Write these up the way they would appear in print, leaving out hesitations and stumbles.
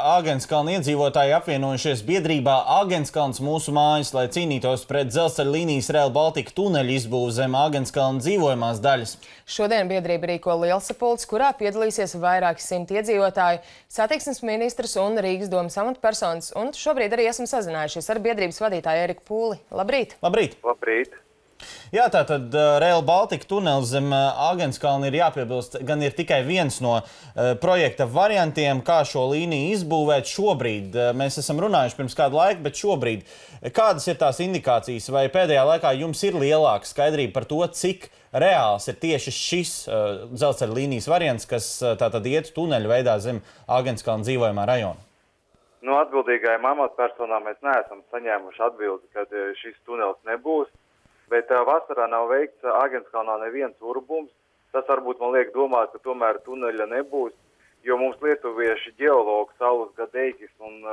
Āgenskalna iedzīvotāji apvienojušies biedrībā Āgenskalns mūsu mājas, lai cīnītos pret dzelzceļa līnijas Rail Baltica tuneļu izbūvi zem Āgenskalna dzīvojamās daļas. Šodien biedrība rīko lielsapulci, kurā piedalīsies vairāki simti iedzīvotāji, satiksmes ministrs un Rīgas domes amatpersonas. Un šobrīd arī esam sazinājušies ar biedrības vadītāju Eriku Pūli. Labrīt! Labrīt! Labrīt! Jā, tātad Rail Baltica tunelis zem Āgenskalna ir jāpiebilst, gan ir tikai viens no projekta variantiem, kā šo līniju izbūvēt šobrīd. Mēs esam runājuši pirms kādu laiku, bet šobrīd kādas ir tās indikācijas, vai pēdējā laikā jums ir lielāka skaidrība par to, cik reāls ir tieši šis dzelzceļa līnijas variants, kas tātad iet tuneļu veidā zem Āgenskalna dzīvojamā rajona? No atbildīgajām amatpersonām mēs neesam saņēmuši atbildi, kad šis tunelis nebūs. Bet vasarā nav veikts Āgenskalnā neviens urbums. Tas varbūt man liek domāt, ka tomēr tuneļa nebūs, jo mums lietuvieši ģeologi Saulis Gadeikis un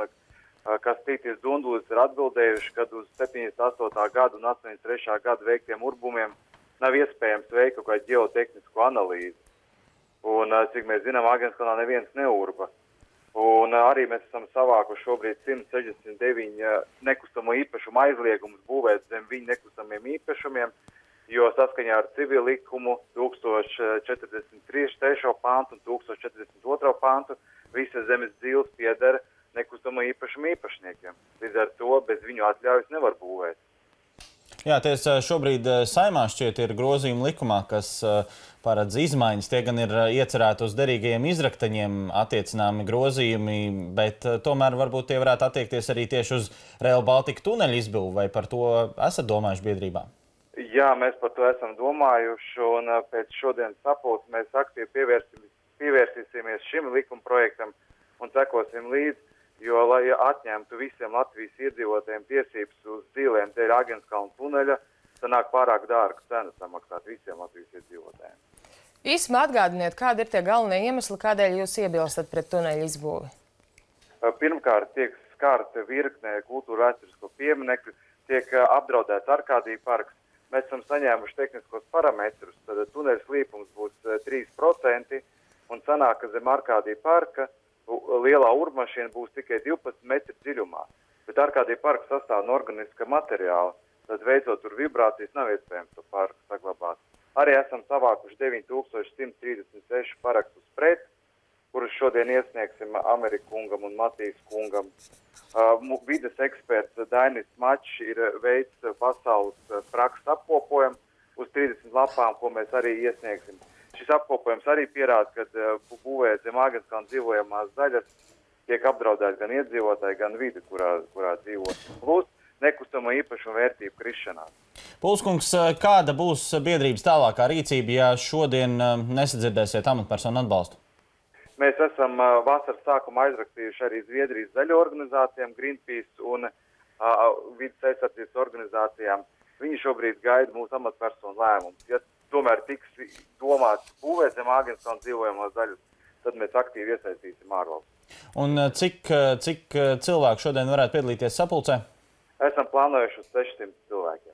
Kastītis Dundulis ir atbildējuši, ka uz 78. gadu un 83. gadu veiktiem urbumiem nav iespējams veikt kaut kādu ģeotehnisku analīzi. Un, cik mēs zinām, Āgenskalnā neviens neurba. Un arī mēs esam savākuši šobrīd 169 nekustamo īpašumu aizliegumus būvēt zem viņu nekustamiem īpašumiem, jo saskaņā ar civil likumu 1043. pantu un 1042. pantu visas zemes dzīves pieder nekustamo īpašumu īpašniekiem. Līdz ar to bez viņu atļaujas nevar būvēt. Jā, tiesa šobrīd Saeimā šķiet ir grozījumi likumā, kas paredz izmaiņas. Tie gan ir iecerēti uz derīgajiem izraktaņiem attiecināmi grozījumi, bet tomēr varbūt tie varētu attiekties arī tieši uz Rail Baltica tuneļu izbūvi. Vai par to esat domājuši biedrībā? Jā, mēs par to esam domājuši, un pēc šodienas sapulces mēs aktīvi pievērsīsimies šim likuma projektam un sekosim līdzi. Jo, lai atņemtu visiem Latvijas iedzīvotājiem tiesības uz dzīvēm dēļ Āgenskalna tuneļa, sanāk pārāk dārga cena samaksāt visiem Latvijas iedzīvotājiem. Īsumā atgādiniet, kādi ir tie galvenie iemesli, kādēļ jūs iebilstat pret tuneļa izbūvi? Pirmkārt, tiek skārta virknē kultūra vēsturisko pieminekļu, tiek apdraudēts Arkādija parks. Mēs esam saņēmuši tehniskos parametrus, tad tuneļa slīpums būs 3% un sanāk, ka zem Arkādija parka lielā urbmašīna būs tikai 12 metru dziļumā, bet Arkādija parks sastāv no organiska materiāla, tad veicot tur vibrācijas nav iespējams to parku saglabāt. Arī esam savākuši 9136 parakstus pret, kurus šodien iesniegsim Amerikas kungam un Matīs kungam. Vides eksperts Dainis Mačs ir veids pasaules prakses apkopojumu uz 30 lapām, ko mēs arī iesniegsim. Šis apkopojums arī pierāda, ka būvēt zem Āgenskalna dzīvojamās daļas tiek apdraudēti gan iedzīvotāji, gan vide, kurā dzīvo. Plus nekustamo īpašumu vērtību krišanās. Pulskungs, kāda būs biedrības tālākā rīcība, ja šodien nesadzirdēsiet amatpersonu atbalstu? Mēs esam vasaras sākumā aizrakstījuši arī Zviedrijas zaļo organizācijām, Greenpeace un vides aizsardzības organizācijām. Viņi šobrīd gaida mūsu amatpersonu lēmumus. Ja tomēr tiks domāts būvēt zem Āgenskalna dzīvojamās daļas, tad mēs aktīvi iesaistīsim ārvalstis. Un cik cilvēku šodien varētu piedalīties sapulcē? Esam plānojuši uz 600 cilvēku.